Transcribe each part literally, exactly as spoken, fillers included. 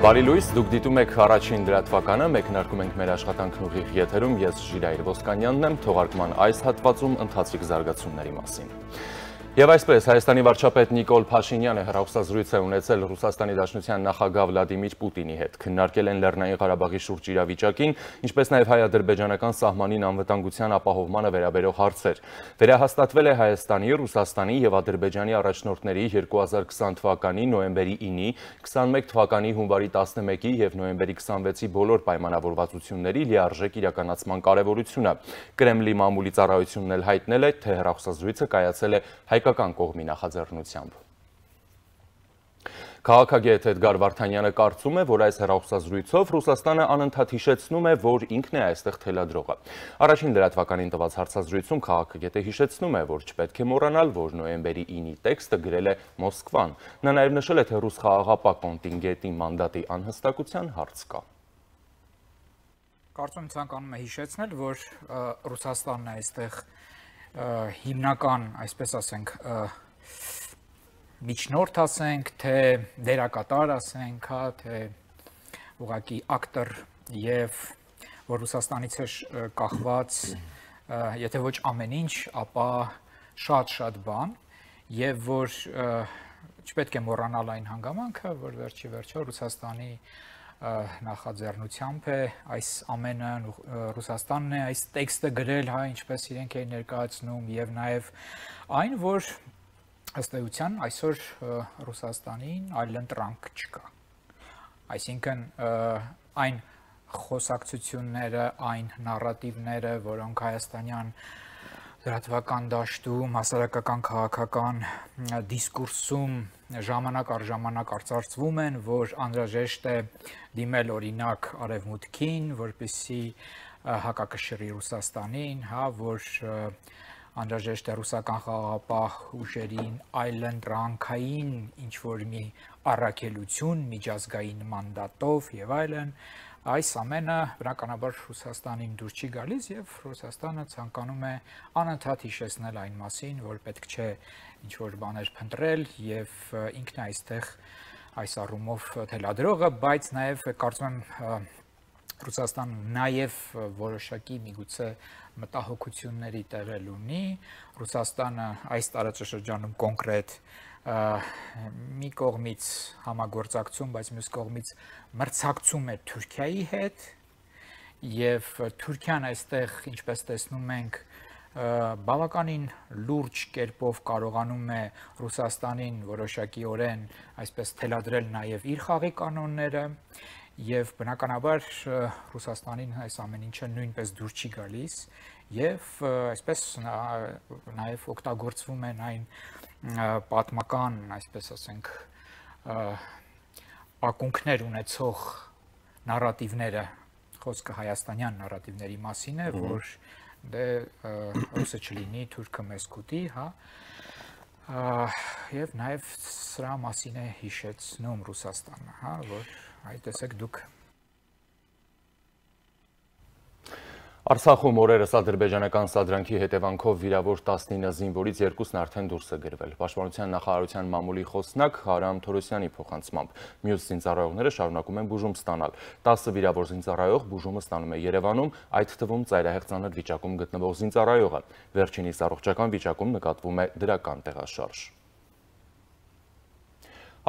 Բարի լույս, դուք դիտում եք առաջին լրատվականը, մեկնարկում ենք մեր աշխատանքն ուղիղ եթերում, ես Ժիրայր Ոսկանյանն եմ, թողարկման այս հատվածում ընթացիկ զարգացումների մասին։ Եվ այսպես, Հայաստանի վարչապետ Նիկոլ Փաշինյանը հեռախոսազրույց է ունեցել Ռուսաստանի Դաշնության նախագահ Վլադիմիր Պուտինի հետ, քննարկել են Լեռնային Ղարաբաղի շուրջ իրավիճակին, ինչպես նաև հայ-ադրբեջանական սահմանին անվտանգության ապահովմանը վերաբերող հարցեր։ Վերահաստատվել է Հայաստանի, Ռուսաստանի և Ադրբեջանի առաջնորդների երկու հազար քսան թվականի նոյեմբերի ինի, քսանմեկ թվականի հունվարի տասնմեկի և նոյեմբերի քսանվեցի բոլոր պայմանավորվածությունների լիարժեք իրականացման կարևորությունը։ Կրեմլի մամուլի ծառայությունն էլ հայտնել է, թե հեռախոսազրույցը կայացել է հայկական կողմի նախաձեռնությամբ։ Քաղաքագետ Էդգար Վարդանյանը կարծում է, որ այս հեռախոսազրույցով Ռուսաստանը անընդհատ հիշեցնում է, որ ինքն է այստեղ թելադրողը։ Առաջին լրատվականին տված հարցազրույցում քաղաքագետը հիշեցնում է, որ չպետք է մոռանալ, որ նոյեմբերի ինի տեքստը գրել է Մոսկվան։ Նա նաև նշել է, թե ռուս խաղաղապահ կոնտինգենտի մանդատի անհստակության հարց կա։ Կարծում եմ ցանկանում է հիշեցնել, որ Ռուսաստանն է այստեղ հիմնական, այսպես ասենք, միջնորդ ասենք, թե դերակատար ասենք, հա, թե ուղղակի ակտոր եւ որ Ռուսաստանից է կախված, եթե ոչ ամեն ինչ, ապա շատ-շատ բան, եւ որ չպետք է մոռանալ այն հանգամանքը, որ վերջի վերջո Ռուսաստանի նախաձեռնությամբ է այս ամենը, Ռուսաստանն է այս տեքստը գրել, հա, ինչպես իրենք էին ներկայացնում, եւ նաեւ այն, որ ըստ էության այսօր Ռուսաստանին այլընտրանք չկա։ Այսինքն այն խոսակցությունները, այն նարատիվները, որոնք հայաստանյան լրատվական դաշտում, հասարակական քաղաքական դիսկուրսում ժամանակ առ ժամանակ արծարծվում են, որ անհրաժեշտ է դիմել օրինակ Արևմուտքին, որպեսզի հակակշռի Ռուսաստանին, հա, որ անհրաժեշտ է ռուսական խաղաղապահ ուժերին այլընտրանքային ինչ-որ մի առաքելություն միջազգային մանդատով եւ այլն, այս ամենը բնականաբար Ռուսաստանին դուր չի գալիս եւ Ռուսաստանը ցանկանում է անընդհատ հիշեցնել այն մասին, որ պետք չէ ինչ-որ բաներ փնտրել եւ ինքն է այստեղ այս առումով թելադրողը, բայց նաեւ կարծում եմ Ռուսաստանը նաեւ որոշակի միգուցե մտահոգությունների տեղել ունի, Ռուսաստանը այս տարածաշրջանում կոնկրետ մի կողմից համագործակցում, բայց մյուս կողմից մրցակցում է Թուրքիայի հետ եւ Թուրքիան այստեղ, ինչպես տեսնում ենք, բավականին լուրջ կերպով կարողանում է Ռուսաստանին որոշակիորեն այսպես թելադրել նաեւ իր խաղի կանոնները եւ բնականաբար Ռուսաստանին այս ամեն ինչը նույնպես դուր չի գալիս եւ այսպես նաեւ օգտագործվում են այն պատմական, այսպես ասենք, ակունքներ ունեցող նարատիվները, խոսքը հայաստանյան նարատիվների մասին է, որ դե ռուսը չլինի, թուրքը մեզ կուտի, հա, եւ նաեւ սրա մասին է հիշեցնում Ռուսաստանը, հա, որ այ տեսեք դուք Արցախում օրերս ադրբեջանական սադրանքի հետևանքով վիրավոր տասնինը զինվորից երկուսն արդեն դուրս է գրվել։ Պաշտպանության նախարարության մամուլի խոսնակ Հարամ Թորոսյանի փոխանցմամբ մյուս զինծառայողները շարունակում են բուժում ստանալ։ տասը վիրավոր զինծառայող բուժումը ստանում է Երևանում, այդ թվում ծայրահեղ ծանր վիճակում գտնվող զինծառայողը։ Վերջինիս առողջական վիճակում նկատվում է դրական տեղաշարժ։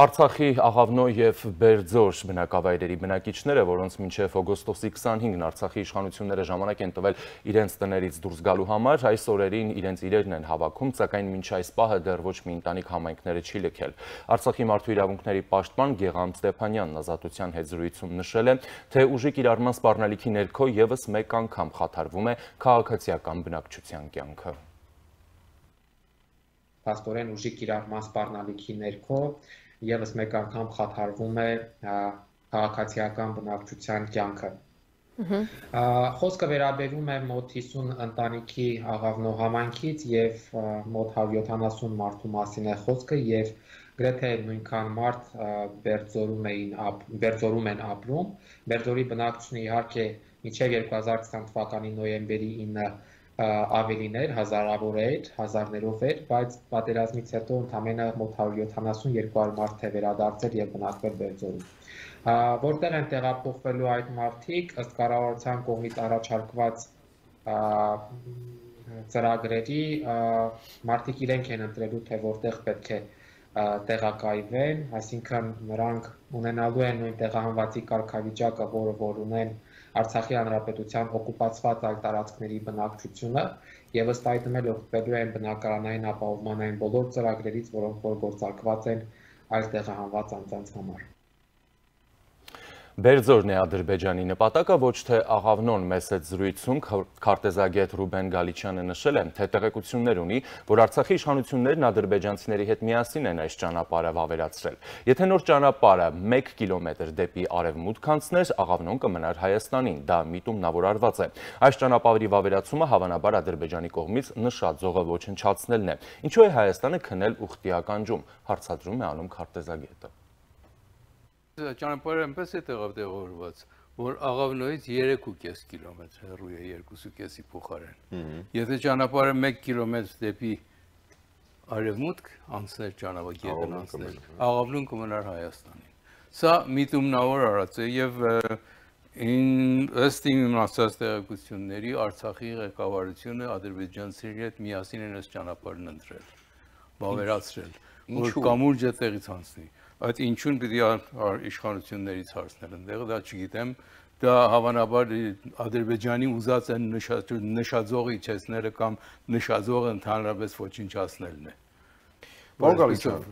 Արցախի Աղավնո և Բերձոր բնակավայրերի բնակիչները, որոնց մինչև օգոստոսի քսանհինգն Արցախի իշխանությունները ժամանակ են տվել իրենց տներից դուրս գալու համար, այս օրերին իրենց իրերն են հավաքում, սակայն մինչ այս պահը դեռ ոչ մի ընտանիք համայնքները չի լքել։ Արցախի մարդու իրավունքների պաշտպան Գեգամ Ստեփանյանն Ազատության հետ զրույցում նշել է, թե ուժի կիրառման սպառնալիքի ներքո ևս մեկ անգամ խաթարվում է քաղաքացիական բնակչության կյանքը։ Փաստորեն ուժի կիրառման սպառնալիքի ներքո ևս մեկ անգամ խաթարվում է քաղաքացիական բնակչության կյանքը։ Խոսքը վերաբերում է մոտ հիսուն ընտանիքի Աղավնո համայնքից եւ մոտ հարյուր յոթանասուն մարդու մասին է խոսքը եւ գրեթե նույնքան մարդ Բերձորում էին Բերձորում են ապրում։ Բերձորի բնակչությունը իհարկե մինչև երկու հազար քսան թվականի նոյեմբերի ինը ավելին էր, հազարավոր էր, հազարներով էր, բայց պատերազմից հետո ընդամենը մոտ հարյուր յոթանասուն երկու հարյուր մարդ է վերադարձել եւ բնակվել Բերձորում։ որտեղ են տեղափոխվելու այդ մարդիկ ըստ կառավարության կողմից առաջարկված ծրագրերի մարդիկ իրենք են ընտրելու, թե որտեղ պետք է տեղակայվեն, այսինքն նրանք ունենալու են նույն տեղահանվածի կարգավիճակը, որը որ ունեն Արցախի Հանրապետության օկուպացված այլ տարածքների բնակչությունը, եւ ըստ այդմ էլ օգտվելու են բնակարանային ապահովման այն բոլոր ծրագրերից, որոնք որ գործարկված են այլ տեղահանված անձանց համար։ Բերձորն է Ադրբեջանի նպատակը, ոչ թե աղավնոն մեծ այդ զրույցում քարտեզագետ Ռուբեն Գալիչյանը նշել է, թե տեղեկություններ ունի, որ Արցախի իշխանություններն ադրբեջանցիների հետ միասին են այս ճանապարհը վավերացրել։ Եթե նոր ճանապարհը մեկ կիլոմետր դեպի արևմուտք անցներ, աղավնոն կմնար Հայաստանին, դա միտումնավորարված է։ Այս ճանապարհի վավերացումը հավանաբար Ադրբեջանի կողմից նշաձողը ոչնչացնելն է։ Ինչու է Հայաստանը քնել ուխտի ականջում, հարցադրում է անում քարտեզագետը։ Ճանապարհը այնպես է տեղավորված, որ աղավնոյից երեք ու կես կիլոմետր հեռու է երկու ու կեսի փոխարեն։ Եթե ճանապարհը մեկ կիլոմետր դեպի արևմուտք անցներ ճանապարհը անցներ, աղավնոն կմնար Հայաստանին։ Սա միտումնավոր արած է եւ ըստ իմ ասած տեղեկությունների Արցախի ղեկավարությունը ադրբեջանցիների հետ միասին են այս ճանապարհն ընտրել, վավերացրել, որ կամուրջը տեղից անցնի։ Այդ ինչուն պիտի իշխանություններից հարցնել ընդեղ, դա չգիտեմ, դա հավանաբար Ադրբեջանի ուզած են նշաձողը իջեցնելը կամ նշաձողը ընդհանրապես ոչնչացնելն է։ Պարոն Գալիչյան,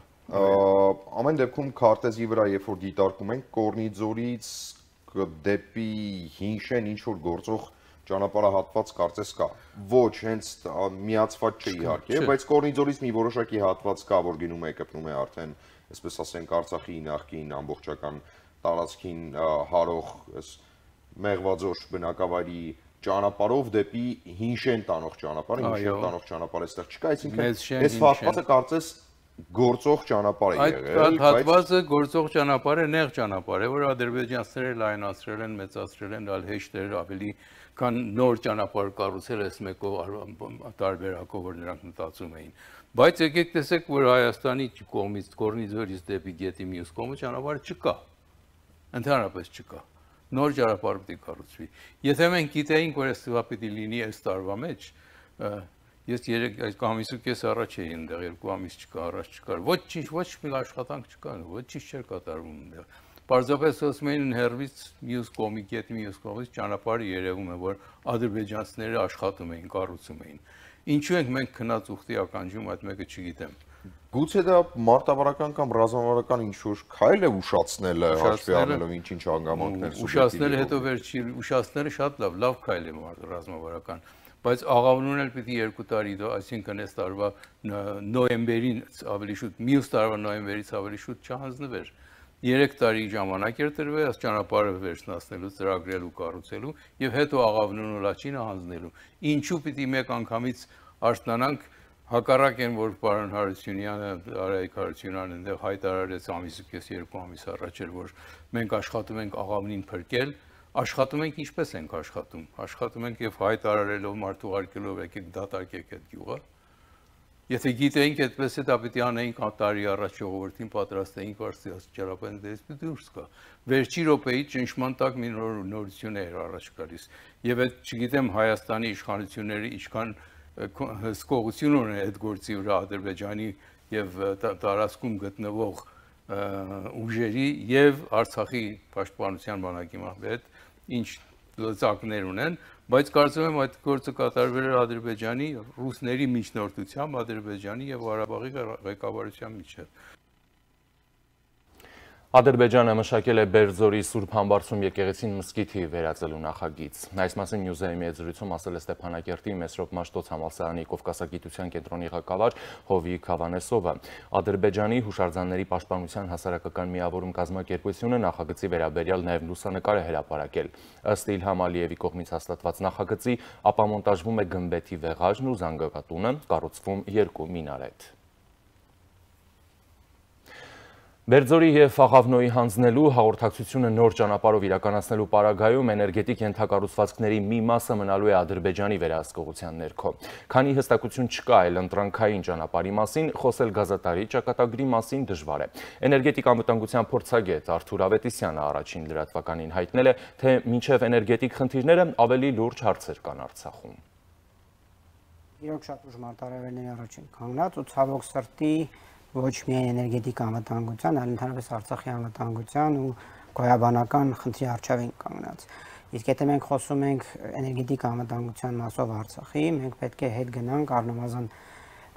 ամեն դեպքում քարտեզի վրա, երբ որ դիտարկում ենք Կորնիձորից դեպի Հինշեն ինչ որ գործող ճանապարհահատված կարծես կա։ Ոչ, հենց միացված չէ իհարկե, բայց Կորնիձորից մի որոշակի հատված կա, որ գնում է կպնում է արդեն այսպես ասենք Արցախի նախկին ամբողջական տարածքին հարող մեղվաձոր բնակավայրի ճանապարհով դեպի Հինշեն տանող ճանապարհը, Հինշեն տանող ճանապարհը այստեղ չկա, այսինքն այս հատվածը կարծես գործող ճանապարհ է եղել։ Այդ հատվածը գործող ճանապարհ է, նեղ ճանապարհ է, որ ադրբեջանցիները լայնացրել են, մեծացրել են, այլ հեշտեր ավելի քան նոր ճանապարհ կառուցել այս մեկով տարբերակով, որ նրանք մտածում էին։ Բայց եկեք տեսեք, որ Հայաստանի կողմից Կորնիձորից դեպի գետի մյուս կողմը ճանապարհը չկա։ Ընդհանրապես չկա։ Նոր ճանապարհ պիտի կառուցվի։ Եթե մենք գիտեինք, որ այս պիտի լինի այս տարվա մեջ, ես երեք ամիս ու կես առաջ էի այնտեղ, երկու ամիս չկա, առաջ չկար։ Ոչինչ, ոչ մի աշխատանք չկա, ոչինչ չէր կատարվում այնտեղ։ Պարզապես ասում էին հերվից մյուս կողմի գետի մյուս կողմից ճանապարհը երևում է, որ ադրբեջանցիները աշխատում էին, կառուցում էին։ Ինչու ենք մենք քնած ուխտի ականջում, այդ մեկը չգիտեմ։ Գուցե դա մարտավարական կամ ռազմավարական ինչ-որ քայլ է ուշացնելը, հաշվի առնելով ինչ-ինչ հանգամանքներ։ Ուշացնելը հետո վերջի ուշացնելը շատ լավ, լավ քայլ է ռազմավարական, բայց աղավնուն էլ պիտի երկու տարի, այսինքն այս տարվա նոյեմբերին ավելի շուտ, մյուս տարվա նոյեմբերից ավելի շուտ չհանձնվեր։ Երեք տարի ժամանակ էր տրվել այս ճանապարհը վերջնացնելու, ծրագրելու, կառուցելու եւ հետո աղավնունը լաչինը հանձնելու։ Ինչու պիտի մեկ անգամից արթնանանք, հակառակ են, որ պարոն Հարությունյանը, Արայիկ Հարությունյանն այնտեղ հայտարարեց ամիս ու կես երկու ամիս առաջ էր, որ մենք աշխատում ենք աղավնին փրկել, աշխատում ենք ինչպես ենք աշխատում, աշխատում ենք եւ հայտարարելով մարդուղարկելով եկեք դատարկեք այդ գյուղը։ Եթե գիտեինք այդպես է, դա պիտի անեինք տարի առաջ ժողովրդին պատրաստեինք վարձի ճանապարհին դες պիտի դուրս գա։ Վերջի րոպեի ճնշման տակ մի նորություն էր առաջ գալիս։ Եվ այդ չգիտեմ Հայաստանի իշխանությունները ինչքան հսկողություն ունեն այդ գործի վրա Ադրբեջանի եւ տարածքում գտնվող ուժերի եւ Արցախի պաշտպանության բանակի հետ ինչ լծակներ ունեն, բայց կարծում եմ այդ գործը կատարվել էր Ադրբեջանի, ռուսների միջնորդությամբ, Ադրբեջանի եւ Ղարաբաղի ղեկավարության միջեւ։ Ադրբեջանը մշակել է Բերձորի Սուրբ Համբարձում եկեղեցին մզկիթի վերածելու նախագիծ։ Այս մասին Նյուզայմի հետ զրույցում ասել է Ստեփանակերտի Մեսրոպ Մաշտոց համալսարանի Կովկասագիտության կենտրոնի ղեկավար Հովիկ Հավանեսովը։ Ադրբեջանի հուշարձանների պաշտպանության հասարակական միավորում կազմակերպությունը նախագծի վերաբերյալ նաև լուսանկար է հրապարակել։ Ըստ Իլհամ Ալիևի կողմից հաստատված նախագծի ապամոնտաժվում է գմբեթի վեղաժն ու զանգակատունը, կառուցվում երկու մինարետ։ Բերձորի և Աղավնոյի հանձնելու հաղորդակցությունը նոր ճանապարհով իրականացնելու պարագայում էներգետիկ ենթակառուցվածքների մի մասը մնալու է Ադրբեջանի վերահսկողության ներքո։ Քանի հստակություն չկա այլ ընտրանքային ճանապարհի մասին, խոսել գազատարի ճակատագրի մասին դժվար է։ Էներգետիկ անվտանգության փորձագետ Արթուր Ավետիսյանը առաջին լրատվականին հայտնել է, թե մինչև էներգետիկ խնդիրները ավելի լուրջ հարցեր կան Արցախում։ Իրոք շատ ուժ մարտահրավերների առաջին կանգնած ու ցավոք սրտի ոչ միայն էներգետիկ անվտանգության, այլ ընդհանրապես Արցախի անվտանգության ու գոյաբանական խնդրի առջև կանգնած։ Իսկ եթե մենք խոսում ենք էներգետիկ անվտանգության մասով Արցախի, մենք պետք է հետ գնանք առնվազն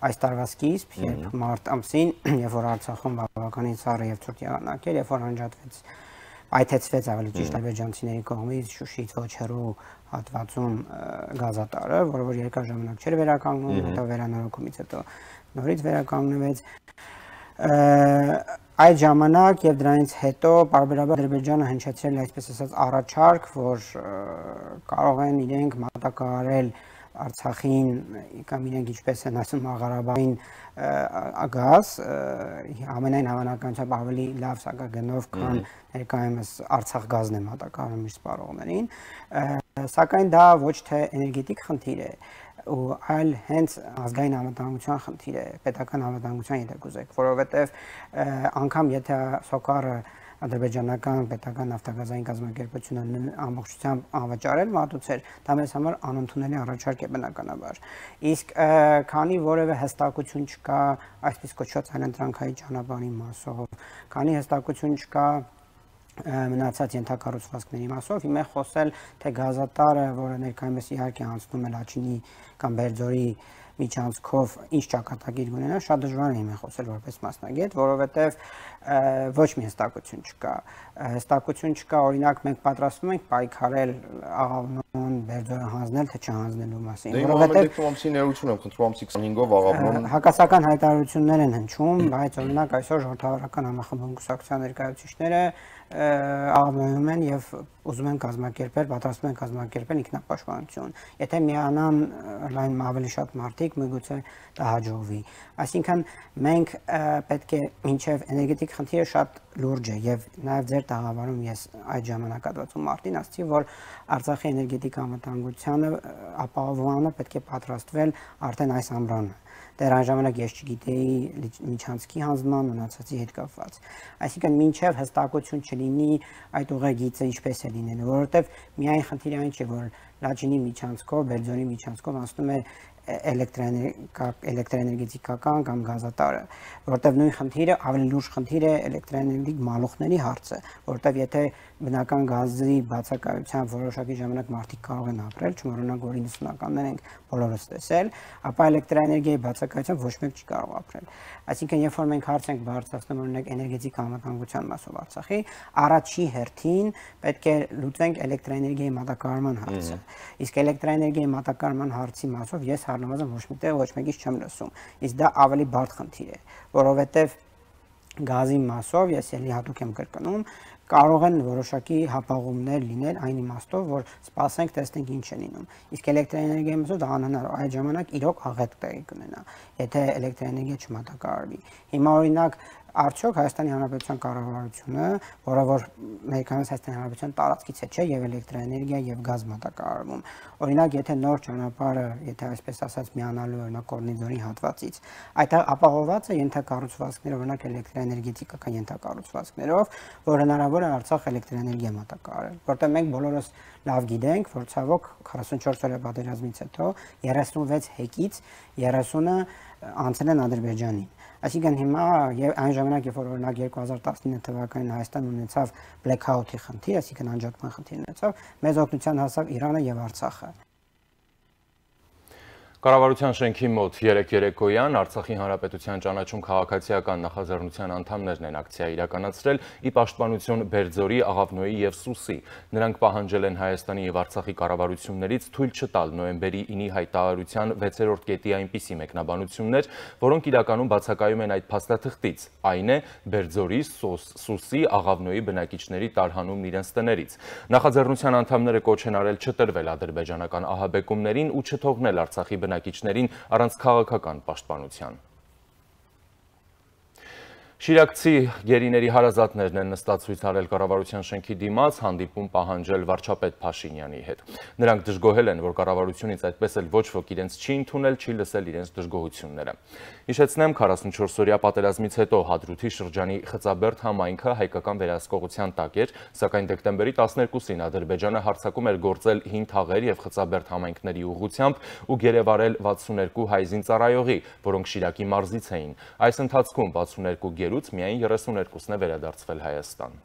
այս տարվա սկիզբ, երբ մարտ ամսին, երբ որ Արցախում բավականին սառը եւ ցուրտ եղանակ էր, երբ որ անջատվեց, այթեցվեց ավելի ճիշտ ադրբեջանցիների կողմից Շուշիից ոչ հեռու հատվածում գազատարը, որը որ երկար ժամանակ չէր վերականգնում, հետո վերանորոգումից հետո նորից վերականգնվեց։ Այդ ժամանակ եւ դրանից հետո բարբերաբար Ադրբեջանը հնչեցրել է այսպես ասած առաջարկ, որ կարող են իրենք մատակարարել Արցախին կամ իրենք ինչպես են ասում Ղարաբաղին գազ, ամենայն հավանականությամբ ավելի լավ սակագնով, քան ներկայումս Արցախ գազն է մատակարարում իր սպառողներին, սակայն դա ոչ թե էներգետիկ խնդիր է, ու այլ հենց ազգային անվտանգության խնդիր է, պետական անվտանգության եթե կուզեք, որովհետև անգամ եթե Սոկարը ադրբեջանական պետական նավթագազային կազմակերպությունը ամբողջությամբ անվճարել մատուցեր, դա մեզ համար անընդունելի առաջարկ է բնականաբար։ Իսկ քանի որևէ հստակություն չկա այսպես կոչված այլընտրանքային ճանապարհի մասով, քանի հստակություն չկա մնացած ենթակառուցվածքների մասով, հիմա խոսել թե գազատարը, որը ներկայումս իհարկե անցնում է Լաչինի կամ Բերձորի միջանցքով ինչ ճակատագիր ունենա, շատ դժվար է հիմա խոսել որպես մասնագետ, որովհետև ոչ մի հստակություն չկա։ Հստակություն չկա, օրինակ մենք պատրաստվում ենք պայքարել Աղավնոն, Բերձորը հանձնել, թե չհանձնելու մասին, որովհետև ամսի ներություն եմ խնդրում ամսի քսանհինգով Աղավնոն հակասական հայտարարություններ են հնչում, բայց օրինակ այսօր ժողովրդավարական համախմբում կուսակցության ներկայացուցիչները աղավնոյում են եւ ուզում են կազմակերպել, պատրաստվում են կազմակերպել ինքնապաշտպանություն։ Եթե միանան լայն ավելի շատ մարդիկ, միգուցե դա հաջողվի։ Այսինքն մենք պետք է մինչև էներգետիկ խնդիրը շատ լուրջ է եւ նաեւ ձեր տաղավարում ես այդ ժամանակահատվածում մարտին ասացի, որ Արցախի էներգետիկ անվտանգությանը ապահովանը պետք է պատրաստվել արդեն այս ամռանը։ Դեռ այն ժամանակ ես չգիտեի միջանցքի հանձնման մնացածի հետ կապված։ Այսինքն մինչև հստակություն չլինի այդ ուղեգիծը ինչպես է լինելու, որովհետև միայն խնդիրը այն չէ, որ Լաչինի միջանցքով, Բերձորի միջանցքով անցնում է էլեկտրաէներգետիկական կամ գազատարը, որտեղ նույն խնդիրը ավելի լուրջ խնդիր է էլեկտրաէներգետիկ մալուխների հարցը, որտեղ եթե բնական գազի բացակայությամբ որոշակի ժամանակ մարդիկ կարող են ապրել, չմոռանանք, որ իննսունականներ ենք բոլորս տեսել, ապա էլեկտրաէներգիայի բացակայությամբ ոչ մեկ չի կարող ապրել։ Այսինքն, երբ որ մենք հարց ենք բարձրացնում օրինակ էներգետիկ անվտանգության մասով Արցախի, առաջի հերթին պետք է լուծենք էլեկտրաէներգիայի մատակարարման հարցը։ Իսկ էլեկտրաէներգիայի մատակարարման հարցի մասով ես առնվազն ոչ միտեղ ոչ մեկից չեմ լսում։ Իսկ դա ավելի բարդ խնդիր է, որովհետև գազի մասով ես ելի հատուկ եմ կրկնում, կարող են որոշակի հապաղումներ լինել այն իմաստով, որ սպասենք, տեսնենք ինչ է լինում։ Իսկ էլեկտրաէներգիայի մասով դա անհնար, այդ ժամանակ իրոք աղետ տեղի կունենա, եթե էլեկտրաէներգիա չմատակարարվի։ Հիմա օրինակ արդյոք Հայաստանի Հանրապետության կառավարությունը, որը որ ներկայումս Հայաստանի Հանրապետության տարածքից է, չէ, եւ էլեկտրաէներգիա եւ գազ մատակարարվում։ Օրինակ, եթե նոր ճանապարհը, եթե այսպես ասած միանալու օրինակ Կորնիձորի հատվածից, այդ ապահովված է ենթակառուցվածքներով, օրինակ էլեկտրաէներգետիկական ենթակառուցվածքներով, որ հնարավոր է Արցախ էլեկտրաէներգիա մատակարարել, որտեղ մենք բոլորս լավ գիտենք, որ ցավոք քառասունչորս օրյա պատերազմից հետո երեսունվեց հեկից երեսունը անցել են Ադրբեջանին։ Այսինքն հիմա եւ այն ժամանակ, երբ որ օրինակ երկու հազար տասնինը թվականին Հայաստանը ունեցավ բլեքաութի խնդիր, այսինքն անջատման խնդիր ունեցավ, մեծ օգնության հասավ Իրանը եւ Արցախը։ Կառավարության շենքի մոտ երեկ երեկոյան Արցախի Հանրապետության ճանաչում քաղաքացիական նախաձեռնության անդամներն են ակցիա իրականացրել ի պաշտպանություն Բերձորի, Աղավնոյի եւ Սուսի։ Նրանք պահանջել են Հայաստանի եւ Արցախի կառավարություններից թույլ չտալ նոյեմբերի ինի հայտարարության վեցերորդ կետի այնպիսի մեկնաբանություններ, որոնք իրականում բացակայում են այդ փաստաթղթից, այն է Բերձորի, Սուսի, Աղավնոյի բնակիչների տարհանումն իրենց տներից։ Նախաձեռնության անդամները կոչ են արել չտրվել ադրբեջանական ահաբեկումներին ու չթողնել Արցախի բնակիչներին առանց քաղաքական պաշտպանության։ Շիրակցի գերիների հարազատներն են նստած ցույց արել կառավարության շենքի դիմաց, հանդիպում պահանջել վարչապետ Փաշինյանի հետ։ Նրանք դժգոհել են, որ կառավարությունից այդպես էլ ոչ ոք իրենց չի ընդունել, չի լսել իրենց դժգոհությունները։ Հիշեցնեմ, քառասունչորս-օրյա պատերազմից հետո Հադրութի շրջանի Խծաբերդ համայնքը հայկական վերահսկողության տակ էր, սակայն դեկտեմբերի տասներկուսին Ադրբեջանը հարձակում էր գործել հին թաղեր եւ Խծաբերդ համայնքների ուղղությամբ ու գերեվարել վաթսուներկու հայ զինծառայողի, որոնք Շիրակի մարզից էին։ Այս ընթացքում վաթսուներկու գերուց միայն երեսուներկուսն է վերադարձվել Հայաստան։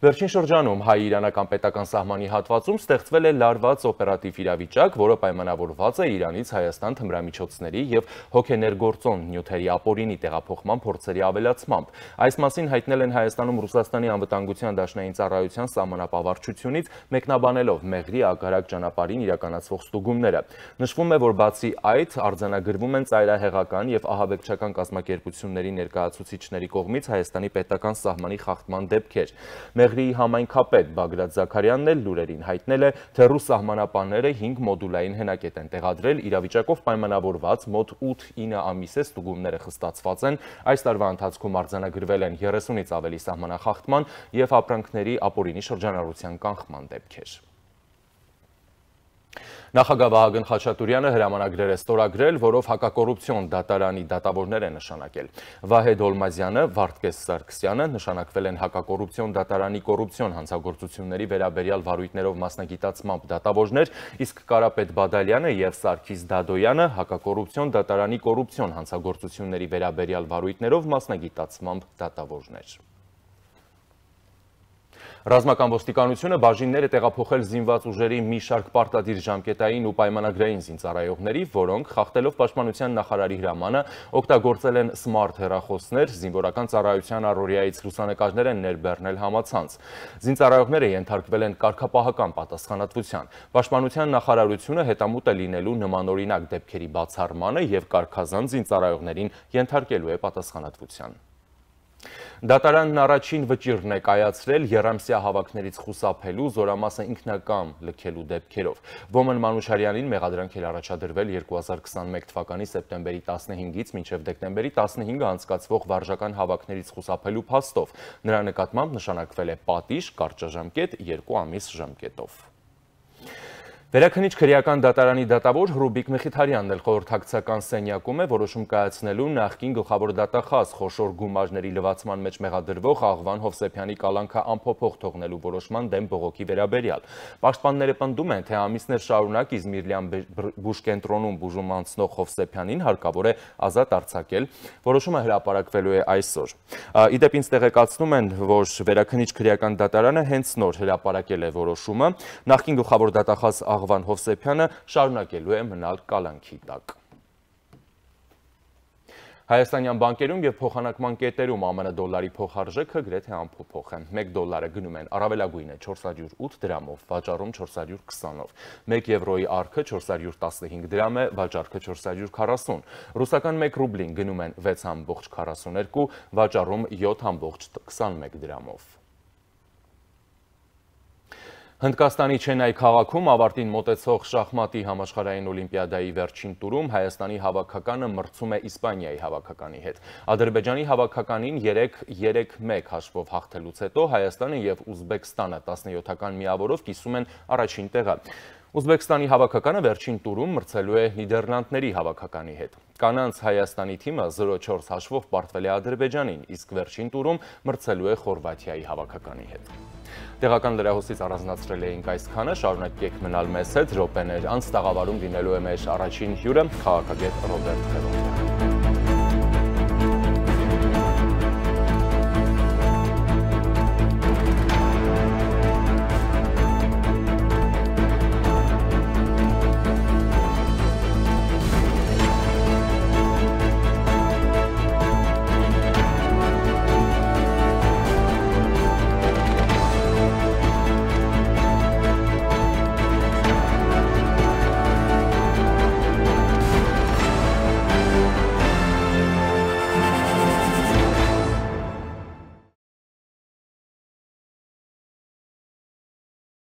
Վերջին շրջանում հայ-իրանական պետական սահմանի հատվածում ստեղծվել է լարված օպերատիվ իրավիճակ, որը պայմանավորված է Իրանից Հայաստան թմրամիջոցների եւ հոգեներգործոն նյութերի ապօրինի տեղափոխման փորձերի ավելացմամբ։ Այս մասին հայտնել են Հայաստանում Ռուսաստանի անվտանգության դաշնային ծառայության սահմանապահարչությունից, մեկնաբանելով Մեղրի ագարակ ճանապարհին իրականացվող ստուգումները։ Նշվում է, որ բացի այդ արձանագրվում են ծայրահեղական եւ ահաբեկչական կազմակերպությունների ներկայացուցիչների կողմից Հայաստանի պետական սահմանի խախտման դեպքեր։ Մեղրիի համայնքապետ Բագրատ Զաքարյանն էլ լուրերին հայտնել է, թե ռուս սահմանապահները հինգ մոդուլային հենակետ են տեղադրել, իրավիճակով պայմանավորված մոտ ութ-ինը ամիս է ստուգումները խստացված են, այս տարվա ընթացքում արձանագրվել են երեսունից ավելի սահմանախախտման եւ ապրանքների ապօրինի շրջանառության կանխման դեպքեր։ Նախագահ Վահագն Խաչատուրյանը հրամանագրեր է ստորագրել, որով հակակոռուպցիոն դատարանի դատավորներ է նշանակել։ Վահե Դոլմազյանը, Վարդգես Սարգսյանը նշանակվել են հակակոռուպցիոն դատարանի կոռուպցիոն հանցագործությունների վերաբերյալ վարույթներով մասնագիտացմամբ դատավորներ, իսկ Կարապետ Բադալյանը եւ Սարգիս Դադոյանը հակակոռուպցիոն դատարանի կոռուպցիոն հանցագործությունների վերաբերյալ վարույթներով մասնագիտացմամբ դատավորներ։ Ռազմական ոստիկանությունը բաժիններ է տեղափոխել զինված ուժերի մի շարք պարտադիր ժամկետային ու պայմանագրային զինծառայողների, որոնք խախտելով պաշտպանության նախարարի հրամանը օգտագործել են սմարթ հեռախոսներ, զինվորական ծառայության առօրյայից լուսանկարներ են ներբեռնել համացանց։ Զինծառայողները ենթարկվել են կարգապահական պատասխանատվության։ Պաշտպանության նախարարությունը հետամուտ է լինելու նմանօրինակ դեպքերի բացառմանը եւ կարգազան զինծառայողներին ենթարկելու է պատասխանատվության։ Դատարանն առաջին վճիռն է կայացրել եռամսյա հավաքներից խուսափելու, զորամասը ինքնակամ լքելու դեպքերով։ Ոմն Մանուշարյանին մեղադրանք էր առաջադրվել երկու հազար քսաներկու թվականի սեպտեմբերի տասնհինգից մինչև դեկտեմբերի տասնհինգը անցկացվող վարժական հավաքներից խուսափելու փաստով։ Նրա նկատմամբ նշանակվել է պատիժ, կարճաժամկետ, երկու ամիս ժամկետով։ Վերաքնիչ քրեական դատարանի դատավոր Հռուբիկ Մխիթարյանն էլ խորհրդակցական սենյակում է որոշում կայացնելու նախկին գլխավոր դատախազ խոշոր գումարների լվացման մեջ մեղադրվող Աղվան Հովսեփյանի կալանքը անփոփոխ թողնելու որոշման դեմ բողոքի վերաբերյալ։ Պաշտպանները պնդում են, թե ամիսներ շարունակ Իզմիրլյան բուժկենտրոնում բուժում անցնող Հովսեփյանին հարկավոր է ազատ արձակել։ Որոշումը հրապարակվելու է այսօր։ Իդեպ ինձ տեղեկացնում են, որ Վերաքնիչ քրեական դատարանը հենց նոր հրապարակել է որոշումը։ Նախկին գլխավոր դատախազ Աղվան Հովսեփյանը շարունակելու է մնալ կալանքի տակ։ Հայաստանյան բանկերում եւ փոխանակման կետերում ԱՄՆ դոլարի փոխարժեքը գրեթե անփոփոխ է։ մեկ դոլարը գնում են առավելագույնը չորս հարյուր ութ դրամով, վաճառում չորս հարյուր քսանով։ մեկ եվրոյի արքը չորս հարյուր տասնհինգ դրամ է, վաճառքը չորս հարյուր քառասուն։ Ռուսական մեկ ռուբլին գնում են վեց հազար քառասունյոթ, վաճառում յոթ հազար քսանմեկ դրամով։ Հնդկաստանի Չենայ քաղաքում ավարտին մոտեցող շախմատի համաշխարհային օլիմպիադայի վերջին տուրում Հայաստանի հավաքականը մրցում է Իսպանիայի հավաքականի հետ։ Ադրբեջանի հավաքականին երեք մեկ հաշվով հաղթելուց հետո Հայաստանը եւ Ուզբեկստանը տասնյոթական միավորով կիսում են առաջին տեղը։ Ուզբեկստանի հավաքականը վերջին տուրում մրցելու է Նիդերլանդների հավաքականի հետ։ Կանանց Հայաստանի թիմը զրո չորս հաշվով պարտվել է Ադրբեջանին, իսկ վերջին տուրում մրցելու է Խորվաթիայի հավաքականի հետ։ Տեղական լրահոսից առանձնացրել էինք այսքանը, շարունակեք մնալ մեզ հետ, րոպեներ անց տաղավարում լինելու է մեր առաջին հյուրը, քաղաքագետ Ռոբերտ Խելոնդյանը։